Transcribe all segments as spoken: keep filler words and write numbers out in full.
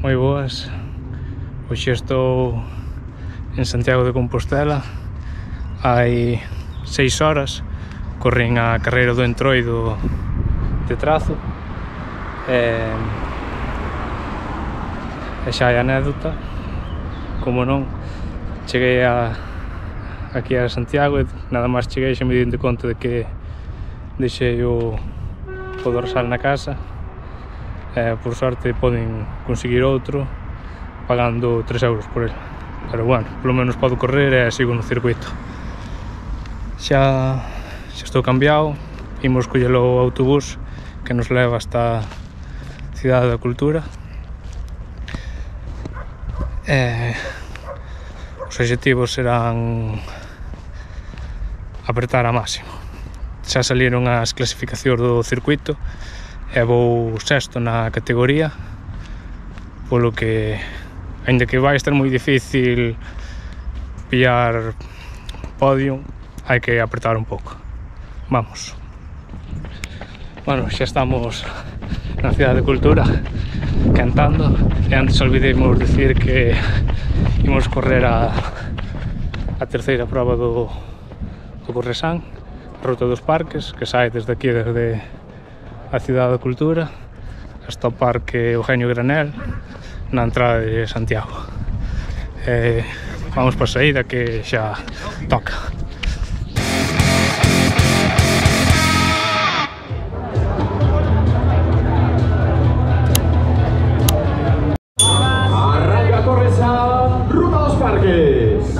moi boas. Hoxe estou en Santiago de Compostela. Hai seis horas corrín a carreira do Entroido de Trazo e, e xa hai anécdota, como non, cheguei a, aquí a Santiago e nada máis cheguei xa me dinte conta de que deixei o, o dorsal na casa. Eh, por sorte poden conseguir outro pagando tres euros por ele, pero bueno, polo menos podo correr e sigo no circuito. Xa, xa estou cambiado, imos coller o autobús que nos leva hasta a Cidade da Cultura. Eh, os obxectivos serán apertar a máximo. Xa salieron as clasificacións do circuito e vou sexto na categoría, polo que, aínda que vai estar moi difícil pillar podio, hai que apertar un pouco. Vamos. Bueno, xa estamos na Cidade de Cultura cantando e antes olvidemos decir que imos correr a, a terceira proba do, do Corresán, Ruta dos Parques, que sai desde aquí, desde a Cidade da Cultura hasta o Parque Eugenio Granel na entrada de Santiago. Eh, vamos para a saída que xa toca. Arranca Corresán, Ruta dos Parques.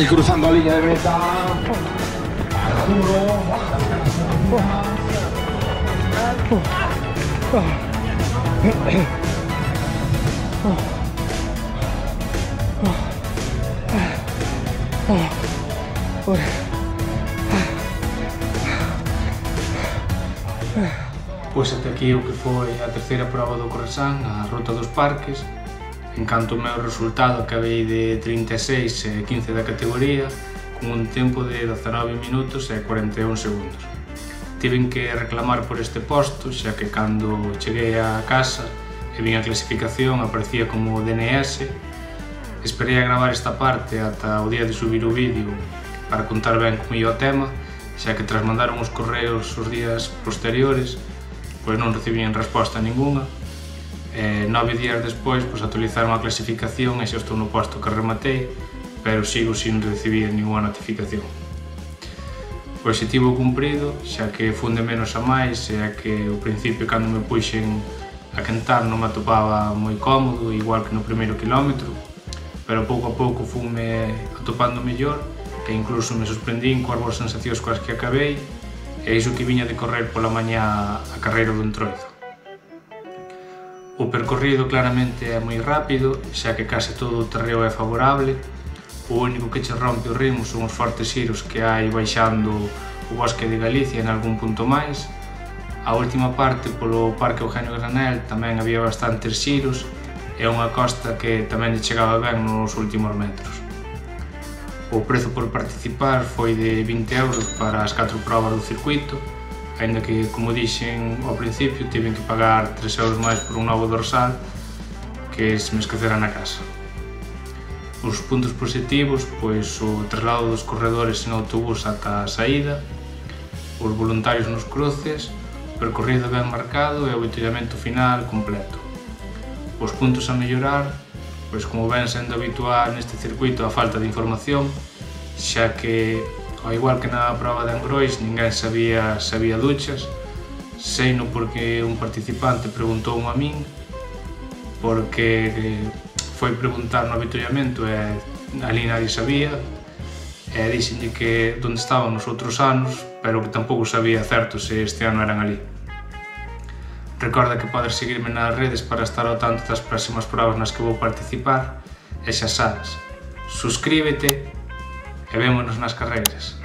Y cruzando línea de meta. Arturo. Pois ata aquí o que foi a terceira proba do Corresán, a Ruta dos Parques. En canto ao meu resultado, acabei de trinta e seis e quince da categoría, con un tempo de dezanove minutos e cuarenta e un segundos. Tiven que reclamar por este posto, xa que cando cheguei a casa e vin a clasificación aparecía como D N S. Esperei a gravar esta parte ata o día de subir o vídeo para contar ben como ia o tema, xa que tras mandaron os correos os días posteriores, pois non recibían resposta ninguna. E nove días despois, pois actualizaron a clasificación e xa estou no posto que rematei, pero sigo sin recibir ninguna notificación. O objetivo cumprido, xa que funde menos a máis, e a que ao principio cando me puxen a quentar non me atopaba moi cómodo, igual que no primeiro quilómetro, pero pouco a pouco funme atopando mellor e incluso me sorprendín coas boas sensacións coas que acabei, e iso que viña de correr pola mañá a carreira do Entroido. O percorrido claramente é moi rápido, xa que case todo o terreo é favorable. O único que che rompe o ritmo son os fortes xiros que hai baixando o bosque de Galicia en algún punto máis. A última parte, polo Parque Eugenio Granel, tamén había bastantes xiros e unha costa que tamén lle chegaba ben nos últimos metros. O prezo por participar foi de vinte euros para as catro probas do circuito, aínda que, como dixen ao principio, tiven que pagar tres euros máis por un novo dorsal que se me esquecera na casa. Os puntos positivos, pois o traslado dos corredores en autobús ata a saída, os voluntarios nos cruces, o percorrido ben marcado e o avituallamento final completo. Os puntos a mellorar, pois como ven sendo habitual neste circuito a falta de información, xa que, ao igual que na proba de Angrois, ninguén sabía se había duchas, seino porque un participante preguntou a min, porque foi preguntar no avituallamento e ali nadie sabía, e dixenlle que onde estaban nos outros anos, pero que tampouco sabía certo se este ano eran ali. Recorda que podes seguirme nas redes para estar ao tanto das próximas probas nas que vou participar, e xa sabes, suscríbete e vémonos nas carreiras.